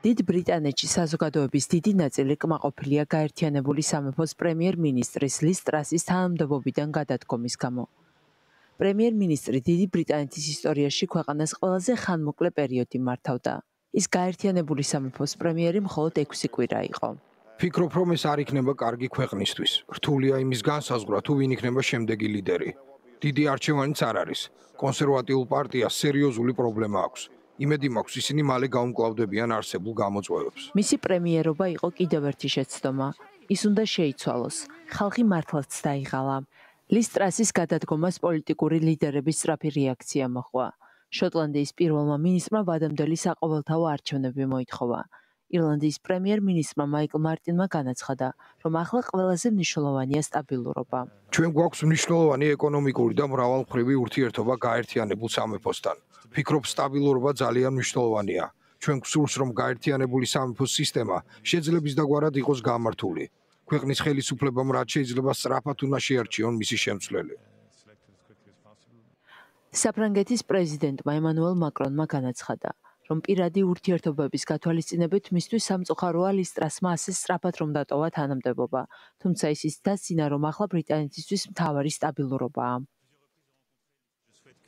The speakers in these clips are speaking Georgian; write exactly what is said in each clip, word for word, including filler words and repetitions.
დიდ ბრიტანეთში საზოგადოების დიდი ნაწილი კმაყოფილია გაერთიანებული სამეფოს პრემიერ-მინისტრის ლის ტრასის თანამდებობიდან გადადგომის გამო. პრემიერ-მინისტრი დიდი ბრიტანეთის ისტორიაში ქვეყანას ყველაზე ხანმოკლე პერიოდი მართავდა. ის გაერთიანებული სამეფოს პრემიერი მხოლოდ ექვსი კვირა იყო. Ფიქრობ, რომ ეს არ იქნება კარგი ქვეყნისთვის. რთულია იმის განსაზღვრა, თუ ვინ იქნება შემდეგი ლიდერი. დიდი არჩევანიც არ არის. კონსერვატიულ პარტიას სერიოზული პრობლემა აქვს. იმედი მაქვს, ისინი მალე გაუმკლავდებიან არსებულ გამოწვევებს. მისი პრემიერობა იყო კიდევ ერთი შეცდომა. ის უნდა შეიცვალოს. ხალხი მართლაც დაიღალა. ლის ტრასის გადადგომას პოლიტიკური ლიდერების სწრაფი რეაქცია მოჰყვა. შოტლანდიის პირველმა მინისტრმა ვადამდელი საყოველთაო არჩევნები მოითხოვა. ირლანდიის პრემიერ-მინისტრმა მაიკლ მარტინმა განაცხადა, რომ ახლა ყველაზე მნიშვნელოვანია სტაბილურობა. ჩვენ გვაქვს მნიშვნელოვანი ეკონომიკური და მრავალმხრივი ურთიერთობა გაერთიანებულ სამეფოსთან. ფიქრობ, სტაბილურობა ძალიან მნიშვნელოვანია. ჩვენ გვსურს, რომ გაერთიანებული სამეფოს სისტემა შეძლების დაგვარად იყოს გამართული. ქვეყნის ხელისუფლებამ რაც შეიძლება სწრაფად უნდა შეარჩიონ მისი შემცვლელი. საფრანგეთის პრეზიდენტმა ემანუელ მაკრონმა განაცხადა, რომ პირადი ურთიერთობების გათვალისწინებით მისთვის სამწუხაროა ლის ტრასმა ასე სწრაფად რომ დატოვა თანამდებობა, თუმცა ის დასძინა, რომ ახლა ბრიტანეთისთვის მთავარი სტაბილურობაა.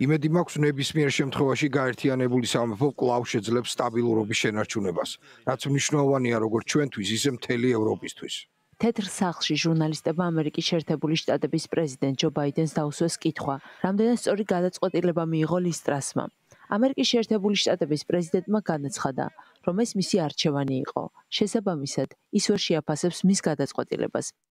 იმედი მაქვს, ნებისმიერ შემთხვევაში გაერთიანებული სამეფო კვლავ შეძლებს სტაბილურობის შენარჩუნებას, რაც მნიშვნელოვანია როგორც ჩვენთვის, ისე მთელი ევროპისთვის. თეთრ სახლში ჟურნალისტებმა ამერიკის შეერთებული შტატების პრეზიდენტ ჯო ბაიდენს დაუსვეს კითხვა, რამდენად სწორი გადაწყვეტილება მიიღო ლის ტრასმა. ამერიკის შეერთებული შტატების პრეზიდენტმა განაცხადა, რომ ეს მისი არჩევანი იყო. შესაბამისად, ის ვერ შეაფასებს მის გადაწყვეტილებას.